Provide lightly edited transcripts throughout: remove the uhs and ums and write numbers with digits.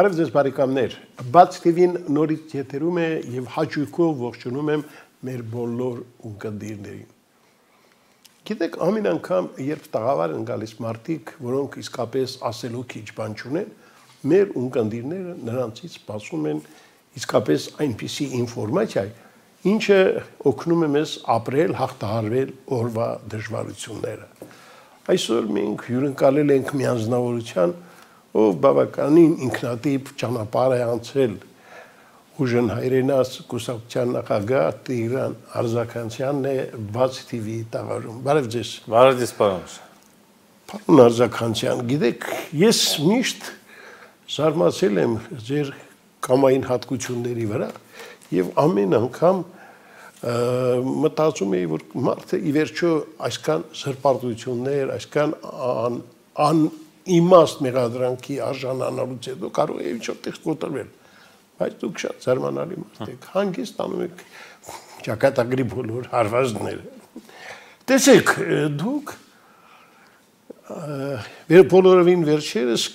Բարև ձեզ բարեկամներ, Բաց TV-ն նորից եթերում է և հաճույքով ողջունում եմ մեր բոլոր ունկնդիրներին։ Գիտեք, ամեն անգամ, երբ տաղավար են գալիս մարդիկ, որոնք իսկապես ասելու քիչ բան չունեն, մեր ունկնդիրները նրանցից սպասում են իսկապես այնպիսի ինֆորմացիա, ինչը օգնում է մեզ ապրել, հաղթահարել օրվա դժվարությունները։ Այսօր մենք հյուրընկալել ենք մի անձնավորության, ով բավականին ինքնատիպ ճանապարհ է անցել ուժն հայրենաս կուսակցության նախագահ Տիգրան Արձաքանյանն է Բաց TV-ի տաղավարում։ Բարև ձեզ։ Բարև ձեզ, պարոն։ Պարոն Արձաքանյան, գիտեք, ես միշտ զարմացել եմ ձեր կամային հատկությունների վրա եւ ամեն անգամ մտածում էի, որ մարդը ի վերջո այսքան սրբարտություններ, այսքան իմաստ մեղադրանքի արժանանալուց հետո կարող է ինչ-որ տեղ կոտրվել, բայց դուք շատ զարմանալի մարդ եք, հանգիստ անում եք ճակատագրի բոլոր հարվածները։ Տեսեք, դուք բոլորովին վերջերս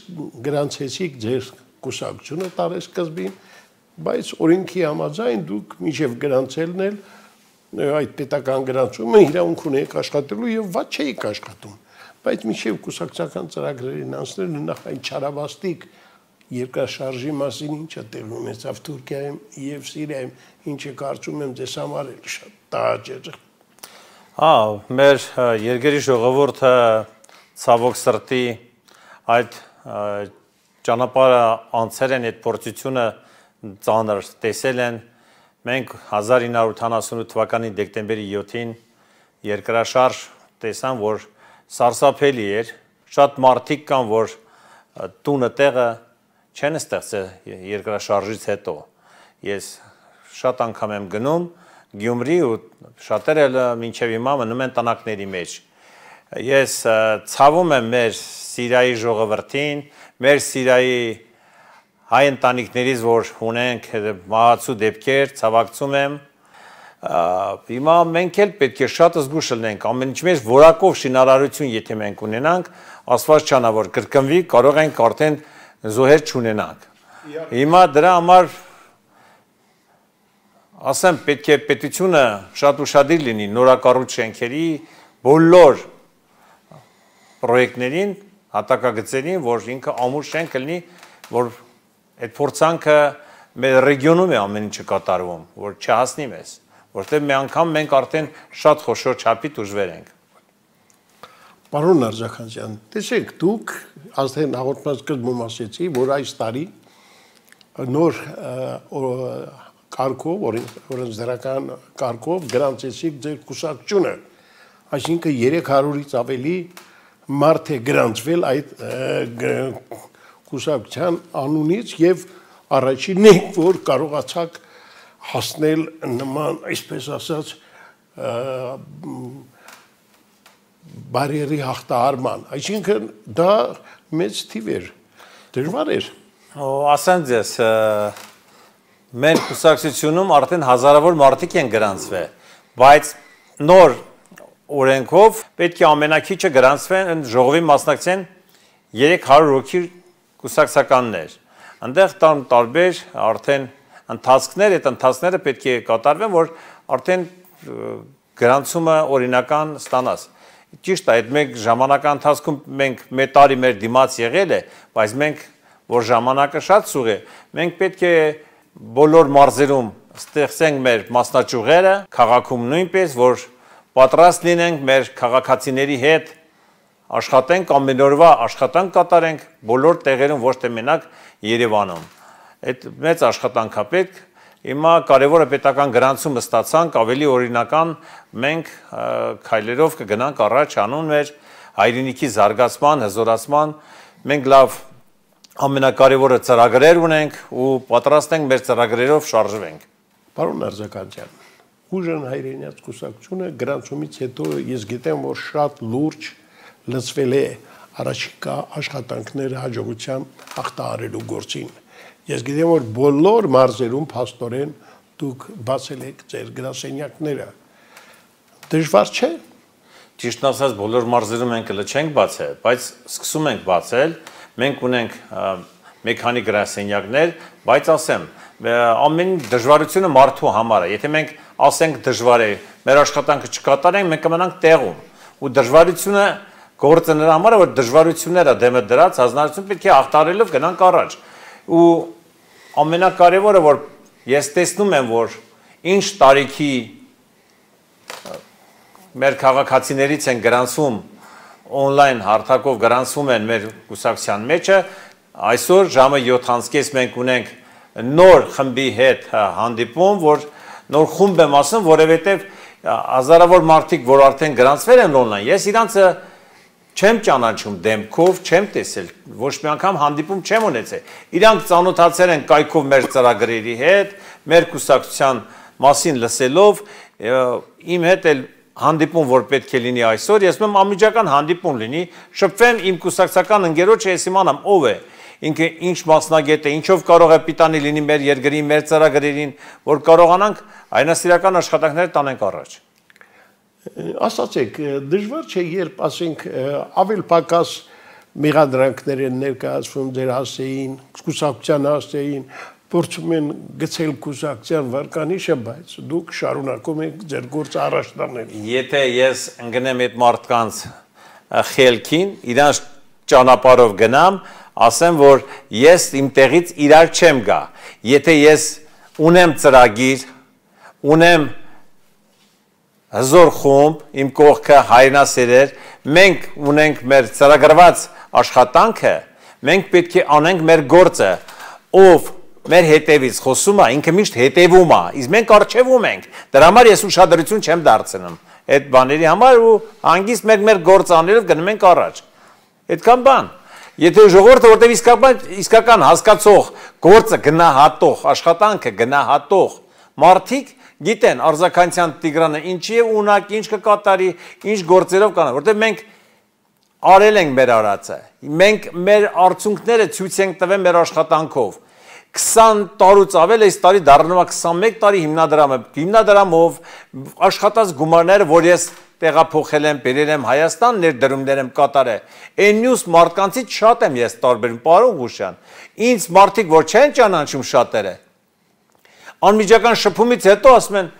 գրանցեցիք ձեր կուսակցությունը տարեսկզբին, բայց օրենքի համաձայն դուք մինչև գրանցելն էլ այդ պետական գրանցումը իրավունք ունեք աշխատելու եւ ված չէիք աշխատում։ Բայց մինչև կուսակցական ծրագրերին անցնելը նախ այն չարաբաստիկ երկրաշարժի մասին ինչը տեղի ունեցավ Թուրքիայում եւ Սիրիայում, ինչը կարծում եմ ձեզ համար էլ շատ տաղաճ է։ Մեր երկրի ժողովուրդը ցավոք սրտի այդ ճանապարհը անցել են, այդ փորձությունը ծանր տեսել են։ Մենք 1988 թվականի դեկտեմբերի 7-ին երկրաշարժ տեսան, որ սարսափելի էր, շատ մարդիկ կան, որ տունը տեղը չեն ստեղծել երկրաշարժից հետո։ Ես շատ անգամ եմ գնում Գյումրի ու շատերը մինչև հիմա մնում են տնակների մեջ։ Ես ցավում եմ մեր Սիրիայի ժողովրդին, մեր Սիրիայի հայ ընտանիքներից, որ ունենք մահացու դեպքեր, ցավակցում եմ։ Հիմա մենք էլ պետք է շատ զգուշ լինենք, ամեն ինչ մեջ որակով շինարարություն, եթե մենք ունենանք, Աստված չանա, որ կրկնվի, կարող ենք արդեն զոհեր չունենանք։ Հիմա դրա համար ասեմ, պետք է պետությունը շատ ուշադիր լինի նորակառույց շենքերի բոլոր պրոյեկտներին, հատակագծերին, որ ինքը ամուր շենք լինի, որ այդ փորձանքը մեր ռեգիոնում է ամեն ինչը կատարվում, որ չհասնի մեզ, որտեղ մի անգամ մենք արդեն շատ խոշոր չափի դժվար ենք։ Պարոն Արձաքանյան, տեսեք, դուք ազգային հաղորդման սկզբում ասեցի, որ այս տարի նոր կարգով, օրենսդրական կարգով գրանցեցիք ձեր կուսակցությունը, այսինքն 300-ից ավելի մարդ է գրանցվել այդ կուսակցության անունից եւ առաջինն եք, որ կարողացաք հասնել նման, այսպես ասած, բարիերի հաղթահարման, այսինքն դա մեծ թիվ էր, դժվար էր։ Ասեմ ձեզ, մեր կուսակցությունում արդեն հազարավոր մարդիկ են գրանցվել, բայց նոր օրենքով պետք է ամենակիչը գրանցվեն, ժողովի մասնակցեն 300 հոգի կուսակցականներ։ Այնտեղ տարբեր արդեն ընթացքներ, այդ ընթացքները պետք է կատարվեն, որ արդեն գրանցումը օրինական ստանաս։ Ճիշտ է, այդ մեկ ժամանակական ընթացքում մենք մեկ տարի մեր դիմաց եղել է, բայց մենք, որ ժամանակը շատ սուղ է, մենք պետք է բոլոր մարզերում ստեղծենք մեր մասնաճյուղերը, քաղաքում նույնպես, որ պատրաստ լինենք մեր քաղաքացիների հետ աշխատենք, ամեն օրվա աշխատանք կատարենք բոլոր տեղերում, ոչ թե մենակ Երևանում։ Այդ մեծ աշխատանք է պետք։ Հիմա կարևորը պետական գրանցումը ստացանք, ավելի օրինական մենք քայլերով կգնանք առաջ անուն մեր հայրենիքի զարգացման, հզորացման, մենք լավ ամենակարևորը ծրագրեր ունենք ու պատրաստ ենք մեր ծրագրերով շարժվենք։ Պարոն Արձաքանյան, ուժն հայրենիաց կուսակցությունը գրանցումից հետո ես գիտեմ, որ շատ լուրջ լծվել է առաջիկա աշխատանքները հաջողությամբ հաղթահարելու գործին։ Ես գիտեմ, որ բոլոր մարզերում փաստորեն դուք բացել եք ձեր գրասենյակները։ Դժվար չէ։ Ճիշտն ասած, բոլոր մարզերում մենք չենք բացել, բայց սկսում ենք բացել։ Մենք ունենք մի քանի գրասենյակներ, բայց ասեմ, ամեն դժվարությունը մարդու համար է։ Եթե մենք ասենք դժվար է, մեր աշխատանքը չկատարենք, մենք կմնանք տեղում։ Ու դժվարությունը գործը նրա համար է, որ դժվարությունները դեմը դրած հանրություն պետք է աղտարելով գնանք առաջ։ Ու ամենակարևորը, որ ես տեսնում եմ, որ ինչ տարիքի մեր քաղաքացիներից են գրանցում on-line հարթակով գրանցում են մեր կուսակցության մեջը, այսօր ժամը 7:30 մենք ունենք նոր խմբի հետ հանդիպում, որ նոր խումբ եմ ասում, որովհետև հազարավոր մարդիկ, որ արդեն գրանցվել են on-line, ես իրանցը չեմ ճանաչում դեմքով, չեմ տեսել, ոչ մի անգամ հանդիպում չեմ ունեցել։ Իրանք ծանոթացել են կայքով մեր ծրագրերի հետ, մեր կուսակցության մասին լսելով, իմ հետ էլ հանդիպում, որ պետք է լինի այսօր, ես մեմ անմիջական հանդիպում լինի, շփվեմ իմ կուսակցական ընկերոջը, ես իմանամ ով է, ինքը ինչ մասնագետ է, ինչով կարող է պիտանի լինի մեր երկրի, մեր ծրագրերին, որ կարողանանք այնասիրական աշխատանքները տանենք առաջ։ Ասացեք, դժվար չէ, երբ ասենք ավել պակաս մեղադրանքներ են ներկայացվում ձեր հասեին, կուսակցության հասեին, փորձում են գցել կուսակցության վարկանիշը, բայց դուք շարունակում եք ձեր գործը առաջ տանել։ Եթե ես ընկնեմ այդ մարդկանց խելքին, իրանց ճանապարհով գնամ, ասեմ, որ ես իմ տեղից իրար չեմ գա։ Եթե ես ունեմ ծրագիր, ունեմ հզոր խումբ, իմ կողքը հայրենասերեր, մենք ունենք մեր ծրագրված աշխատանքը, մենք պետք է անենք մեր գործը, ով մեր հետևից խոսում է, ինքը միշտ հետևում է, իսկ մենք առջևում ենք, դրա համար ես ուշադրություն չեմ դարձնում այդ բաների համար ու հանգիստ մեր գործը անելով գնում ենք առաջ, այդքան բան, եթե ժողովուրդը որտեղ իսկական հասկացող, գործը գնահատող, աշխատանքը գնահատող մարդիկ գիտեն Արձաքանցյան Տիգրանը ինչի է ունակ, ինչ կկատարի, ինչ գործերով կանա, որտեղ մենք արել ենք մեր արածը, մենք մեր արդյունքները ցույց ենք տվել մեր աշխատանքով, 20 տարուց ավել այս տարի դառնում է 21 տարի հիմնադրամով աշխատած գումարները, որ ես տեղափոխել եմ, բերել եմ Հայաստան, ներդրումներ եմ կատարել, այն մյուս մարդկանցից շատ եմ ես տարբերում, պարոն Ղուշյան, ինձ մարդիկ, որ չեն ճանաչում շատերը, անմիջական շփումից հետո ասում են,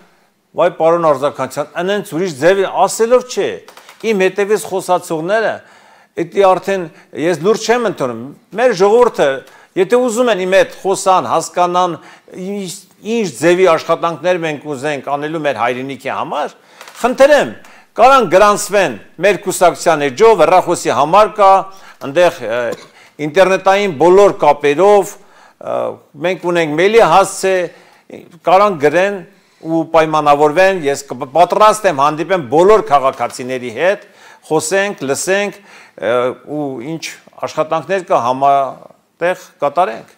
վայ պարոն Արձաքանցյան, անենց ուրիշ ձև ասելով չէ, իմ հետևից խոսացողները, դա արդեն ես լուրջ չեմ ընդունում, մեր ժողովուրդը, եթե ուզում են իմ հետ խոսան, հասկանան, ինչ ձևի աշխատանքներ մենք ուզենք անելու մեր հայրենիքի համար, խնդրեմ, կարան գրանցվեն մեր կուսակցության էջով, հեռախոսի համար կա, այնտեղ ինտերնետային բոլոր կապերով, մենք ունենք մեյլի հասցե, կարան գրեն ու պայմանավորվեն, ես պատրաստ եմ հանդիպեմ բոլոր քաղաքացիների հետ, խոսենք, լսենք ու ինչ աշխատանքներ կա համատեղ կատարենք։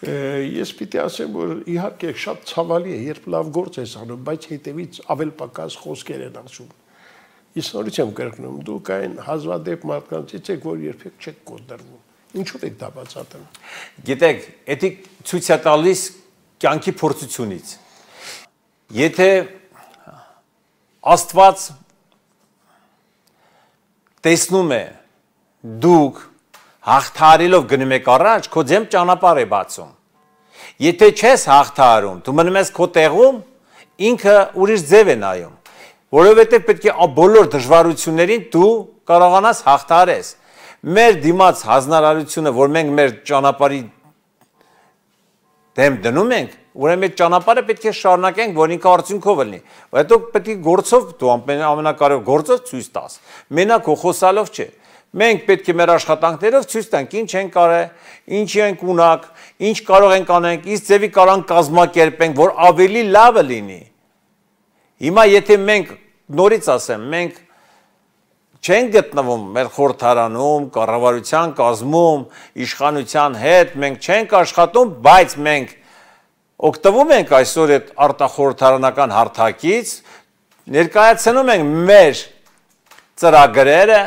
Ես պիտի ասեմ, որ իհարկե շատ ցավալի է, երբ լավ գործ ես անում, բայց հետևից ավել պակաս խոսքեր են ասում։ Ես նորից եմ կրկնում, դուք այն հազվադեպ մարդկանցից եք, որ երբեք չեք կոտրվում։ Ինչու եք դա բացատրում։ Գիտեք, դա ցույց է տալիս կյանքի փորձությունից։ Եթե Աստված տեսնում է դուք հաղթարելով գնում եք առաջ, քո ձեմ ճանապարհ է բացում։ Եթե չես հաղթարում, դու մնում ես քո տեղում, ինքը ուրիշ ձև է նայում, որովհետև պետք է բոլոր դժվարություններին դու կարողանաս հաղթարես։ Մեր դիմաց հանրարարությունը, որ մենք մեր ճանապարհի դեմ դնում ենք, ուրեմն այդ ճանապարհը պետք է շարունակենք, որ ինքը արդյունքով լինի։ Հետո պետք է գործով դու ամենակարևոր գործով ցույց տաս։ Մենակ խոսալով չէ։ Մենք պետք է մեր աշխատանքներով ցույց տանք ինչ ենք արել, ինչի ենք ունակ, ինչ կարող ենք անենք, ինչ ձևի կարող կազմակերպենք, որ ավելի լավը լինի։ Հիմա եթե մենք նորից ասեմ, մենք չենք գտնվում մեր խորհրդարանում, կառավարության կազմում, իշխանության հետ, մենք չենք աշխատում, բայց մենք օգտվում ենք այսօր այդ արտախորհրդարանական հարթակից, ներկայացնում ենք մեր ծրագրերը,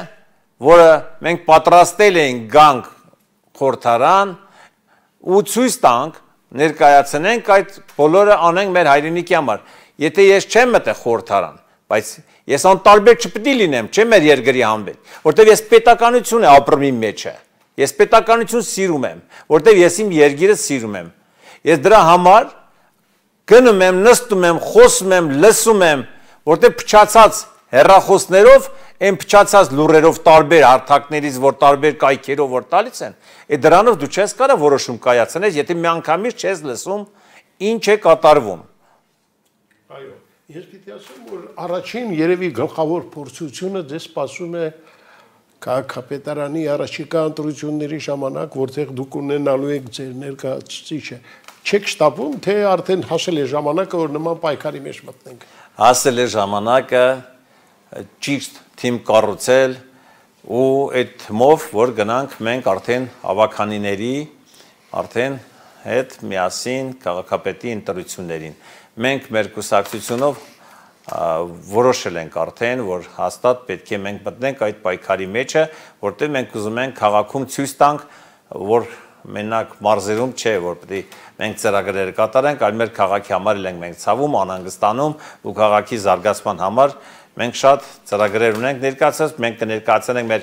որը մենք պատրաստել ենք գանք խորհրդարան ու ցույց տանք, ներկայացնենք այդ բոլորը անենք մեր հայրենիքի համար։ Եթե ես չեմ մտել խորհրդարան, բայց ես անտարբեր չպետք է լինեմ, չէ՞ մեր երկրի համբեր, որտեղ ես պետականություն է ապրում իմ մեջը։ Ես պետականություն սիրում եմ, որտեղ ես իմ երկիրը սիրում եմ։ Ես դրա համար գնում եմ, նստում եմ, խոսում եմ, լսում եմ, որտեղ փչացած հեռախոսներով, այն փչացած լուրերով տարբեր հարթակներից, որ տարբեր կայքերով որ տալիս են, դրանով դու չես կարա որոշում կայացնես, եթե միանգամից չես լսում ինչ է կատարվում։ Այո, ես պիտի ասեմ, որ առաջին երևի գլխավոր փորձությունը ձեզ սպասում է քաղաքապետարանի առաջիկա ընտրությունների ժամանակ, որտեղ դուք ունենալու եք ձեր ներկայացուցիչը, չեք շտապում, թե արդեն հասել է ժամանակը, որ նման պայքարի մեջ մտնենք։ Հասել է ժամանակը ճիշտ թիմ կառուցել ու այդ թմով, որ գնանք մենք արդեն ավականիների, արդեն հետ միասին քաղաքապետի ընտրություններին։ Մենք մեր կուսակցությունով որոշել ենք արդեն, որ հաստատ պետք է մենք մտնենք այդ պայքարի մեջը, որտեղ մենք ուզում ենք քաղաքում ցույց տանք, որ մենակ մարզերում չէ, որ պետք է մենք ծրագրեր կատարենք, այլ մեր քաղաքի համար ենք մենք ցավում, անհանգստանում ու քաղաքի զարգացման համար մենք շատ ծրագրեր ունենք ներկայացած, մենք կներկայացնենք մեր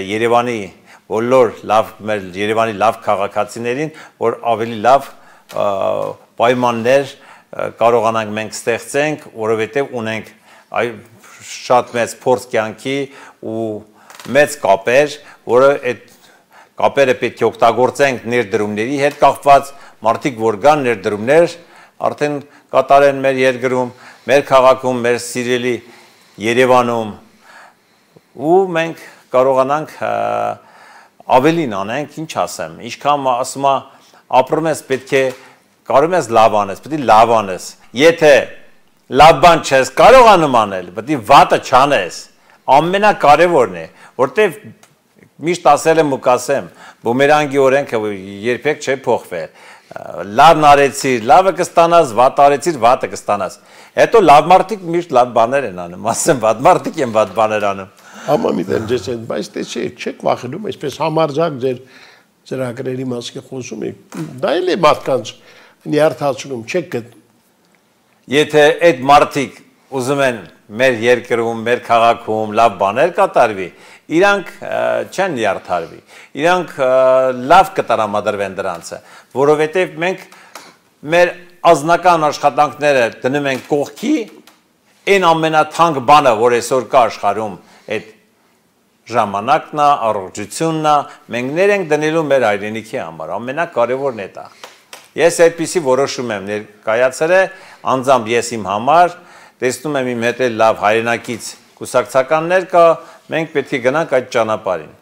Երևանի բոլոր լավ մեր Երևանի լավ քաղաքացիներին, որ ավելի լավ պայմաններ կարողանանք մենք ստեղծենք, որովհետև ունենք շատ մեծ փորձ կյանքի ու մեծ կապեր, որը այդ կապերը պետք է օգտագործենք ներդրումների հետ կապված, մարդիկ որ կան ներդրումներ արդեն կատարեն մեր երկրում, մեր քաղաքում, մեր սիրելի Երևանում ու մենք կարողանանք ավելին անենք, ինչ ասեմ, ինչքան ասում ապրում ես պետք է կարող ես լավ անես, պետք է լավ անես։ Եթե լավ բան չես կարողանում անել, պետք է վատը չանես։ Ամենակարևորն է, որտեվ միշտ ասել եմ ու կասեմ, բումերանգի օրենքը երբեք չէ փոխվել։ Լավն արեցիր, լավը կստանաս, վատ արեցիր, վատը կստանաս։ Հետո լավ մարդիկ միշտ լավ բաներ են անում, ասեմ վատ մարդիկ են վատ բաներ անում։ Համամիտեմ ձեզ հետ, բայց դե չեք վախենում, այսպես համարձակ ձեր ծրագրերի մասին խոսում եք, դա էլ է մարդկանց նյարդացնում, չեք գտնում։ Եթե այդ մարդիկ ուզում են մեր երկրում, մեր քաղաքում լավ բաներ կատարվի, իրանք չեն նյարդարվի, իրանք լավ կտրամադրվեն դրանցը, որովհետև մենք մեր ազնական աշխատանքները դնում ենք կողքի, այն ամենաթանկ բանը, որ այսօր կա աշխարհում, այդ ժամանակն է, առողջությունն է, մենք ներ ենք դնելու մեր հայրենիքի համար, ամենակարևորն է դա։ Ես այդպիսի որոշում եմ ներկայացրել, անձամբ ես իմ համար, տեսնում եմ իմ հետ լավ հայրենակից կուսակցականներ կա, մենք պետք է գնանք այդ ճանապարհին։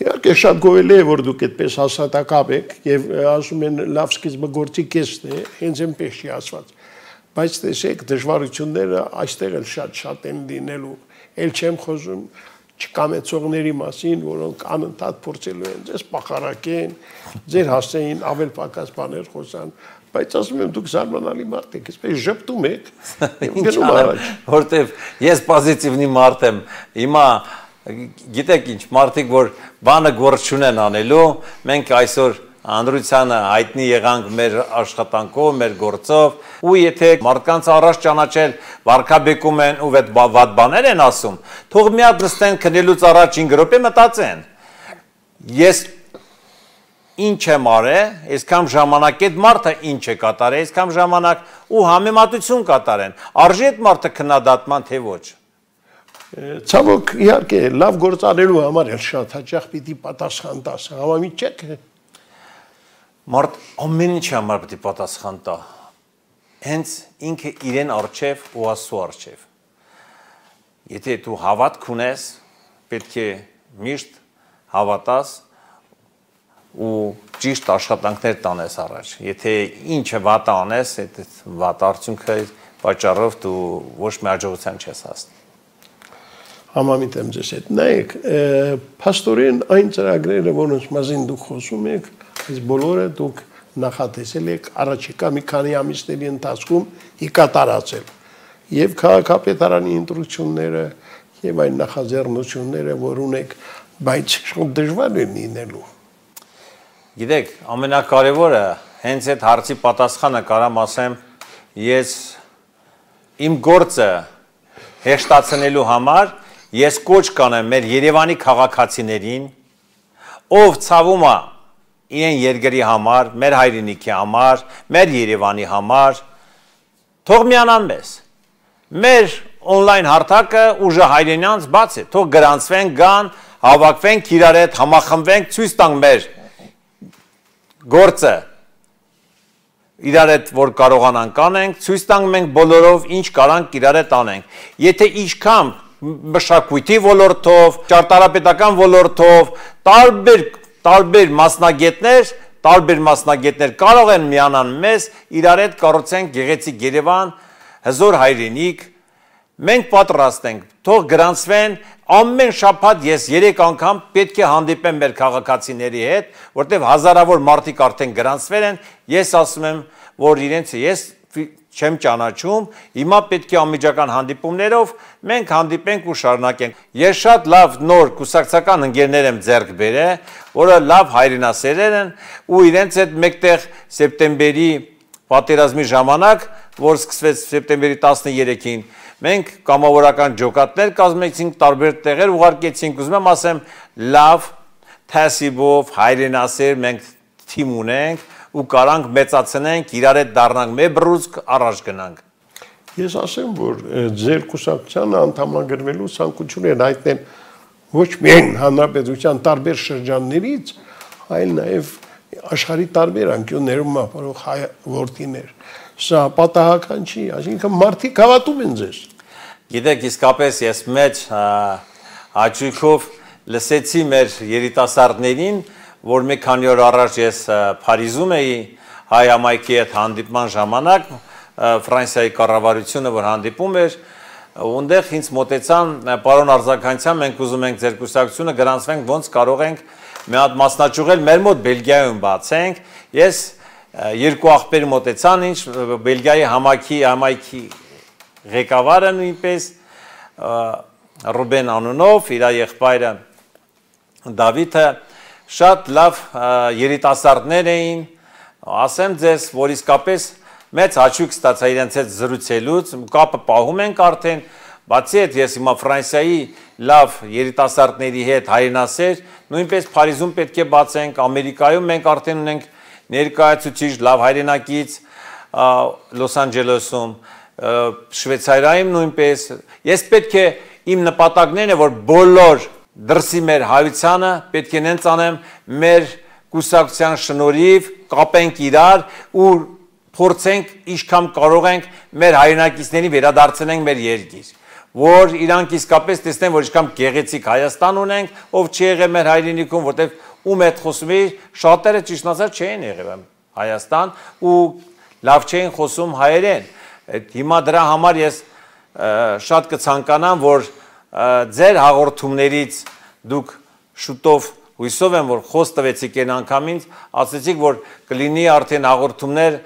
Իհարկե շատ գովելի է, որ դուք այդպես հաստատակապ եք եւ ասում են լավ սկիզբը գործի կեսն է, հենց այնպես չի ասված։ Բայց տեսեք, դժվարությունները այստեղ էլ շատ են լինելու։ Էլ չեմ խոսում չկամեցողների մասին, որոնք անընդհատ փորձելու են ձեզ պախարակեն, ձեր հասցեին ավել պակաս բաներ խոսան, բայց ասում եմ դուք զարմանալի մարդ եք, այսպես ժպտում եք, գնում առաջ։ Որտեվ ես պոզիտիվնի մարդ եմ, հիմա գիտեք ինչ, մարդիկ որ բանը գործ չունեն անելու, մենք այսօր Անդրությանը հայտնի եղանք մեր աշխատանքով, մեր գործով, ու եթե մարդկանց առաջ ճանաչել վարկաբեկում են ու վատ բաներ են ասում, թող մի հատ նստեն քնելուց առաջ 5 րոպե մտածեն։ Ես ինչ եմ արել, այսքան ժամանակ այդ մարդը ինչ է կատարել, այսքան ժամանակ ու համեմատություն կատարեն։ Արժի այդ մարդը քննադատման թե ոչ։ Ցավոք, իհարկե, լավ գործ անելու համար էլ շատ հաճախ պիտի պատասխան տաս, համամիտ չեք։ Մարդ ամեն ինչի համար պետք է պատասխան տա։ Հենց ինքը իրեն արժև ու Աստծո արժև։ Եթե դու հավատք ունես, պետք է միշտ հավատաս ու ճիշտ աշխատանքներ տանես առաջ։ Եթե ինչը վատ անես, այդ վատ արդյունքը պատճառով դու ոչ մի հաջողության չես հասնի։ Համամիտ եմ ձեզ հետ։ Նայեք, փաստորեն այն ծրագրերը, որոնց մասին դուք խոսում եք, այս բոլորը դուք նախատեսել եք առաջիկա մի քանի ամիսների ընթացքում կատարածել։ Եվ քաղաքապետարանի ընտրությունները, եւ այն նախաձեռնությունները, որ ունեք, բայց շատ դժվար է լինելու։ Գիտեք, ամենակարևորը հենց այդ հարցի պատասխանը կարամ ասեմ, ես իմ գործը հեշտացնելու համար ես կոչ կանեմ մեր Երևանի քաղաքացիներին ով ցավում է իրեն երկրի համար, մեր հայրենիքի համար, մեր Երևանի համար, թող միանան մեզ։ Մեր on-line հարթակը ուժը հայրենյանց բաց է, թող գրանցվենք, գան, հավաքվենք իրար հետ, համախմբվենք, ցույց տանք մեր գործը իրար հետ որ կարողանանք անենք, ցույց տանք մենք բոլորով ինչ կարանք իրար հետ անենք։ Եթե ինչքան մշակույթի ոլորտով, ճարտարապետական ոլորտով, տարբեր մասնագետներ կարող են միանան մեզ, իրար հետ կառուցենք գեղեցիկ Երևան, հզոր հայրենիք, մենք պատրաստ ենք, թող գրանցվեն, ամեն շաբաթ ես 3 անգամ պետք է հանդիպեմ մեր քաղաքացիների հետ, որտեղ հազարավոր մարդիկ արդեն գրանցվել են, ես ասում եմ, որ իրենց ես չեմ ճանաչում, հիմա պետք է անմիջական հանդիպումներով մենք հանդիպենք ու շարունակենք։ Ես շատ լավ նոր կուսակցական ընկերներ եմ ձեռք բերել, որը լավ հայրենասերեր են ու իրենց հետ մեկտեղ սեպտեմբերի պատերազմի ժամանակ, որ սկսվեց սեպտեմբերի 13-ին, մենք կամավորական ջոկատներ կազմեցինք, տարբեր տեղեր ուղարկեցինք, ուզում եմ ասեմ, լավ թասիբով հայրենասեր մենք թիմ ունենք ու կարանք մեծացնենք, իրար հետ դառնանք մեր բռուցք առաջ գնանք։ Ես ասեմ, որ ձեր կուսակցությանը անդամագրվելու ցանկություն են հայտնել ոչ միայն հանրապետության տարբեր շրջաններից, այլ նաև աշխարհի տարբեր անկյուններում ապրող հայ որդիներ։ Սա պատահական չի, այսինքն մարդիկ հավատում են ձեզ։ Գիտեք, իսկապես ես մեծ հաճույքով լսեցի մեր երիտասարդներին, որ մի քանի օր առաջ ես Փարիզում էի հայ համայնքի հետ հանդիպման ժամանակ, Ֆրանսիայի կառավարությունը որ հանդիպում էր, ունդեղ ինձ մոտեցան, պարոն Արձականյան, մենք ուզում ենք ձեր կուսակցությունը գրանցվենք, ոնց կարող ենք մի հատ մասնաճյուղել մեր մոտ Բելգիայում բացենք։ Ես երկու աղբեր մոտեցան, ինչ Բելգիայի համայնքի ղեկավարը նույնպես Ռուբեն անունով, իր եղբայրը Դավիթը շատ լավ երիտասարդներ էին, ասեմ ձեզ, որ իսկապես մեծ հաճույք ստացա իրենց հետ զրուցելուց, կապը պահում ենք արդեն, բացի այդ ես հիմա Ֆրանսիայի լավ երիտասարդների հետ հայրենասեր, նույնպես Փարիզում պետք է բացենք, Ամերիկայում մենք արդեն ունենք ներկայացուցիչ լավ հայրենակից, Լոս Անջելեսում, Շվեյցարիայում նույնպես, ես պետք է իմ նպատակներն է, որ բոլոր դրսի մեր հայությանը պետք է նենց անեմ մեր կուսակցության շնորհիվ կապենք իրար ու փորձենք ինչքան կարող ենք մեր հայրենակիցներին վերադարձնենք մեր երկիր, որ իրանք իսկապես տեսնեն, որ ինչքան գեղեցիկ Հայաստան ունենք, ով չի եղել մեր հայրենիքում, որտեղ ում հետ խոսում էի, շատերը ճիշտ ասած չէին եղել Հայաստան ու լավ չէին խոսում հայերեն։ Հիմա դրա համար ես շատ կցանկանամ, որ ձեր հաղորդումներից դուք շուտով հույսով եմ, որ խոս տվեցիք այն անգամից, ասեցիք, որ կլինի արդեն հաղորդումներ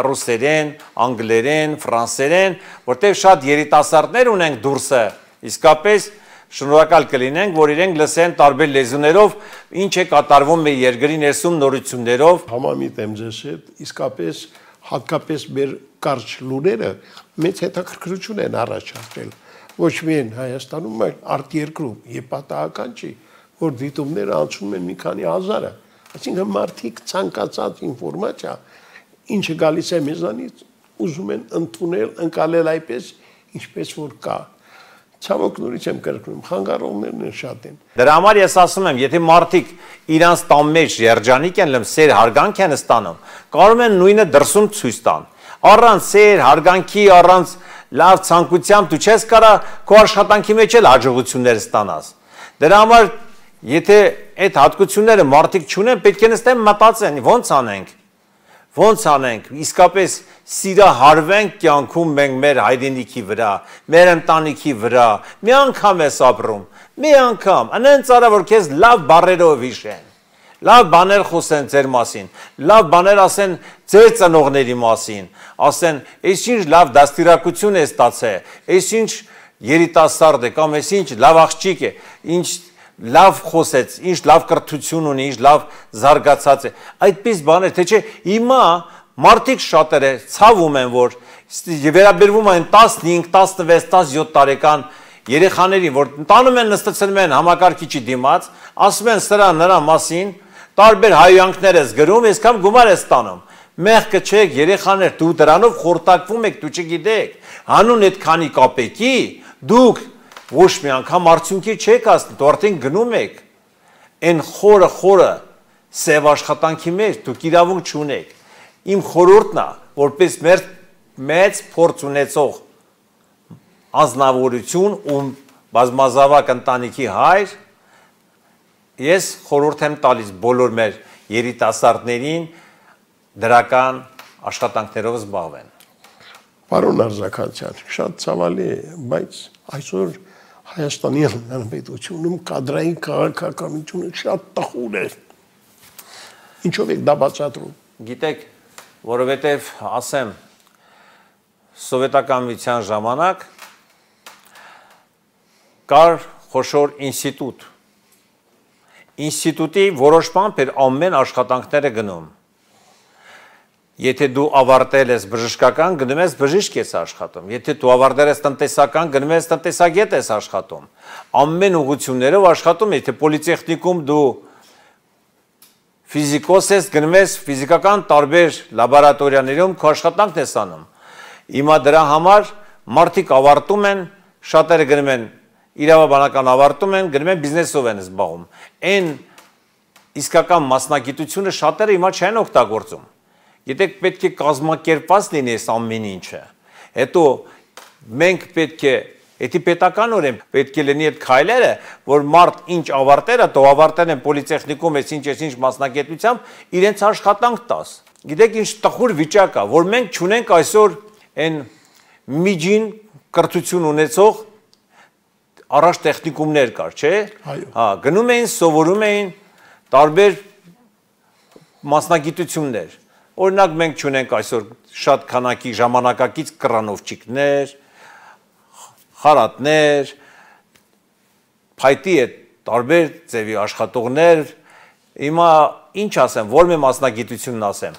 ռուսերեն, անգլերեն, ֆրանսերեն, որտեղ շատ երիտասարդներ ունենք դուրսը, իսկապես շնորհակալ կլինենք, որ իրենք լսեն տարբեր լեզուներով, ինչ է կատարվում մեր երկրի ներսում նորություններով։ Համամիտ եմ ձեզ հետ, իսկապես հատկապես մեր կարճ լուրերը մեծ հետաքրքրություն են առաջացրել։ Ոչ միայն Հայաստանում, այլ արտերկրում, եւ պատահական չի, որ դիտումները անցնում են մի քանի հազարը։ Այսինքն մարդիկ ցանկացած ինֆորմացիա, ինչը գալիս է մեզանից, ուզում են ընդունել, ընկալել այպես, ինչպես որ կա։ Ցավոք նորից եմ կրկնում, խանգարողներն են շատ են։ Դրա համար ես ասում եմ, եթե մարդիկ իրանց տան մեջ երջանիկ են լմ, սեր հարգանք են ստանում, կարող են նույնը դրսում ցույց տան։ Առանց սեր, հարգանքի, առանց լավ ցանկությամբ դու չես կարա քո աշխատանքի մեջ էլ հաջողություններ ստանաս։ Դրա համար եթե այդ հատկությունները մարդիկ չունեն, պետք է նստեն մտածեն, ոնց անենք, իսկապես սիրահարվենք կյանքում մենք մեր հայրենիքի վրա, մեր ընտանիքի վրա, մի անգամ ես ապրում, մի անգամ, անենց արա որ քեզ լավ բառերով հիշեն, լավ բաներ խոսեն ձեր մասին, լավ բաներ ասեն ձեր ծնողների մասին, ասեն, այս ինչ լավ դաստիարակություն է ստացել, այս ինչ երիտասարդ է կամ այս ինչ լավ աղջիկ է, ինչ լավ խոսեց, ինչ լավ կրթություն ունի, ինչ լավ զարգացած է, այդպես բաներ, թե չէ, հիմա մարդիկ շատերը ցավում են, որ վերաբերվում են 15, 16, 17 տարեկան երեխաներին, որ տանում են նստեցնում են համակարգիչի դիմաց, ասում են սրա նրա մասին, տարբեր հայհոյանքներ ես գրում, այսքան գումար ես տանում։ Մեղքը չեք, երեխաներ, դու դրանով խորտակվում եք, դու չգիտեք, հանուն այդ քանի կապեկի, դուք ոչ մի անգամ արդյունքի չեք հասնում, դու արդեն գնում եք, այն խորը սև աշխատանքի մեջ դուք իրավունք չունեք։ Իմ խորհուրդն է, որպես մեծ փորձ ունեցող անձնավորություն ու բազմազավակ ընտանիքի հայր, ես խորհուրդ եմ տալիս բոլոր մեր երիտասարդներին դրական աշխատանքներով զբաղվեն։ Պարոն Արձականյան, շատ ցավալի է, բայց այսօր Հայաստանի Հանրապետությունում կադրային քաղաքականությունը շատ տխուր է։ Ինչով եք դա բացատրում։ Գիտեք, որովհետև ասեմ, սովետական միության ժամանակ կար խոշոր ինստիտուտ։ Ինստիտուտի որոշմամբ էր ամեն աշխատանքները գնում։ Եթե դու ավարտել ես բժշկական, գնում ես բժիշկ ես աշխատում։ Եթե դու ավարտել ես տնտեսական, գնում ես տնտեսագետ ես աշխատում։ Ամեն ուղղություններով աշխատում, եթե պոլիտեխնիկում դու ֆիզիկոս ես, գնում ես ֆիզիկական տարբեր լաբորատորիաներում քո աշխատանքն ես անում։ Հիմա դրա համար մարդիկ ավարտում են, շատերը գնում են իրավաբանական ավարտում են, գնում են բիզնեսով են զբաղվում։ Այն իսկական մասնագիտությունը շատերը հիմա չեն օգտագործում։ Գիտեք, պետք է կազմակերպված լինի այս ամեն ինչը։ Հետո մենք պետք է, եթե պետականորեն պետք է լինի այդ քայլերը, որ մարդ ինչ ավարտել է, դու ավարտել են պոլիտեխնիկում, ինչ մասնագիտությամբ, իրենց աշխատանք տաս։ Գիտեք, ինչ տխուր վիճակ է, որ մենք չունենք այսօր այն միջին կրթություն ունեցող առաջ տեխնիկումներ կար, չէ՞։ Հա, գնում էին, սովորում էին տարբեր մասնագիտություններ։ Օրինակ մենք չունենք այսօր շատ քանակի ժամանակակից կռանովչիկներ, խարատներ, փայտի այդ տարբեր ձևի աշխատողներ, հիմա ինչ ասեմ, որ մի մասնագիտությունն ասեմ,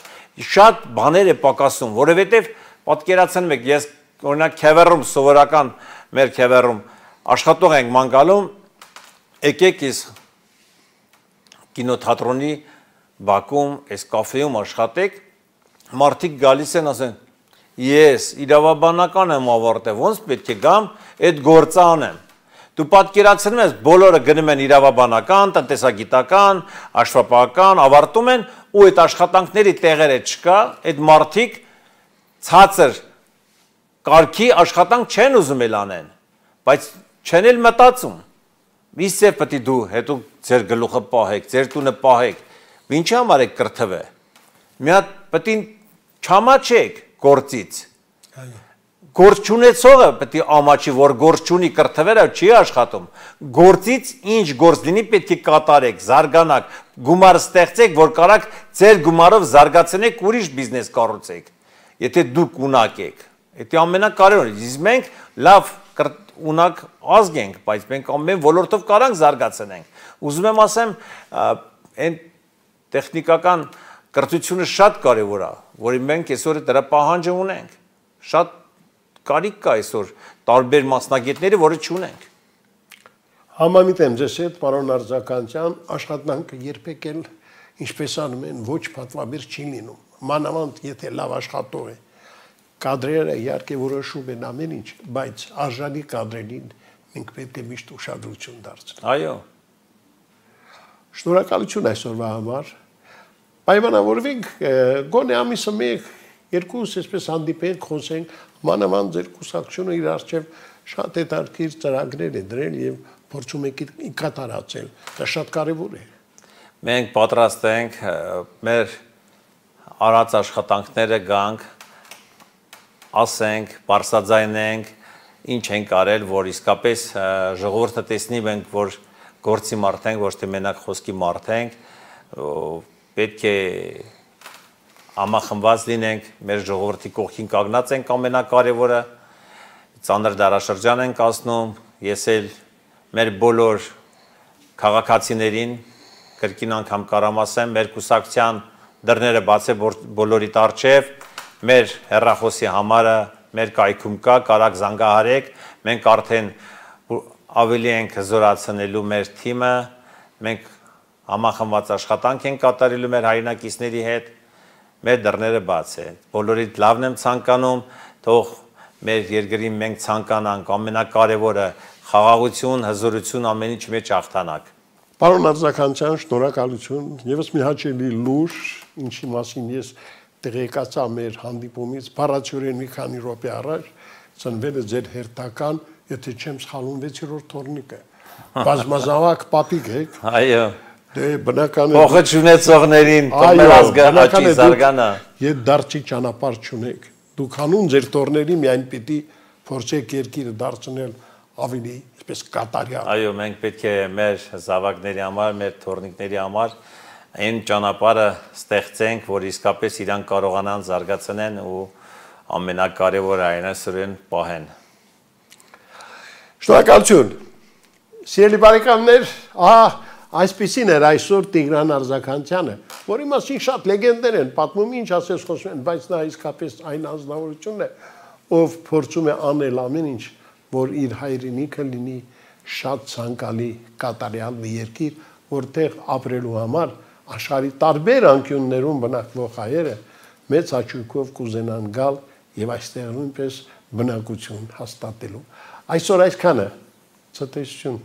շատ բաներ է պակասում, որովհետև պատկերացնում եք, ես օրինակ Քևեռում սովորական մեր Քևեռում աշխատող ենք մանգալում, եկեք ես կինոթատրոնի Բաքում, այս կաֆեում աշխատեք, մարդիկ գալիս են ասեն, ես իրավաբանական եմ ավարտել, ոնց պետք է գամ, այդ գործը անեմ։ Դու պատկերացնում ես, բոլորը գնում են իրավաբանական, տնտեսագիտական, աշխատողական, ավարտում են, ու այդ աշխատանքների տեղերը չկա, այդ մարդիկ ցածր կարգի աշխատանք չեն ուզում էլ անեն, բայց չեն էլ մտածում։ Իսկ պետք է դու հետո ձեր գլուխը պահեք, ձեր տունը պահեք, ինչի համար եք կրթվել։ Մի հատ պետք է չամաչեք գործից։ Գործ չունեցողը պետք է ամաչի, որ գործ չունի, կրթվելը չի աշխատում։ Գործից ինչ գործ լինի պետք է կատարեք, զարգանաք, գումար ստեղծեք, որ կարաք ձեր գումարով զարգացնեք, ուրիշ բիզնես կառուցեք։ Եթե դուք ունակ եք, դա ամենակարևորն է։ Իսկ մենք լավ ունակ ազգ ենք, բայց մենք ամեն ոլորտով կարանք զարգացնենք։ Ուզում եմ ասեմ, այն տեխնիկական կրթությունը շատ կարևոր է, որի մենք այսօր դրա պահանջը ունենք։ Շատ կարիք կա այսօր տարբեր մասնագետների, որը չունենք։ Համամիտ եմ ձեզ հետ, պարոն Արձականյան, աշխատանքը երբեք էլ, ինչպես անում են, ոչ պատվաբեր չի լինում։ Մանավանդ եթե լավ աշխատող է, կադրերը իհարկե որոշում են ամեն ինչ, բայց արժանի կադրերին մենք պետք է միշտ ուշադրություն դարձնենք։ Այո։ Շնորհակալություն այսօրվա համար։ Պայմանավորվենք, գոնե ամիսը մեկ, երկուս այսպես հանդիպենք, խոսենք, մանավանդ ձեր կուսակցությունը իր առջև շատ հետաքրքիր ծրագրեր է դրել եւ փորձում եք կատարածել։ Դա շատ կարեւոր է։ Մենք պատրաստ ենք մեր արած աշխատանքները գանք, ասենք, բարձրաձայնենք, ինչ ենք արել, որ իսկապես ժողովուրդը տեսնի մենք, որ գործի մարդ ենք, ոչ թե մենակ խոսքի մարդ ենք, պետք է համախմբված լինենք, մեր ժողովրդի կողքին կանգնած ենք ամենակարևորը, ծանր դարաշրջան ենք ասնում, ես էլ մեր բոլոր քաղաքացիներին կրկին անգամ կարամ ասեմ, մեր կուսակցության դռները բաց է բոլորիդ առջև, մեր հեռախոսի համարը մեր կայքում կա, կարաք զանգահարեք, մենք արդեն ավելի ենք զորացնելու մեր թիմը, մենք համախմբված աշխատանք ենք կատարելու մեր հայրենակիցների հետ, մեր դռները բաց են։ Բոլորիդ լավն եմ ցանկանում, թող մեր երկրին մենք ցանկանանք ամենակարևորը խաղաղություն, հզորություն ամեն ինչ մեջ հաղթանակ։ Պարոն Արձականյան, շնորհակալություն։ Եվս մի հաճելի լուր, ինչի մասին ես տեղեկացա մեր հանդիպումից, բառացիորեն մի քանի րոպե առաջ, ծնվել է ձեր հերթական, եթե չեմ սխալվում, 6-րդ թորնիկը։ Բազմազավակ պապիկ եք։ Այո։ Դե բնական է։ Փոխը ճանաչողներին, մեր ազգը աճի զարգանա։ Եվ դարձի ճանապարհ չունեք։ Դուք հանուն ձեր տորների միայն պիտի փորձեք երկիրը դարձնել ավելի այսպես կատարյալ։ Այո, մենք պետք է մեր զավակների համար, մեր թորնիկների համար այն ճանապարհը ստեղծենք, որ իսկապես իրանք կարողանան զարգացնեն ու ամենակարևորը այն այսօրեն պահեն։ Շնորհակալություն։ Սիրելի բարեկամներ, այսպեսին էր այսօր Տիգրան Արձականյանը, որի մասին շատ լեգենդներ են, պատմում ինչ ասես խոսում են, բայց նա իսկապես այն անձնավորությունն է, ով փորձում է անել ամեն ինչ, որ իր հայրենիքը լինի շատ ցանկալի կատարյալ մի երկիր, որտեղ ապրելու համար աշխարհի տարբեր անկյուններում բնակվող հայերը մեծ հաճույքով կուզենան գալ եւ այստեղ նույնպես բնակություն հաստատելու։ Այսօր այսքանը, ցտեսություն։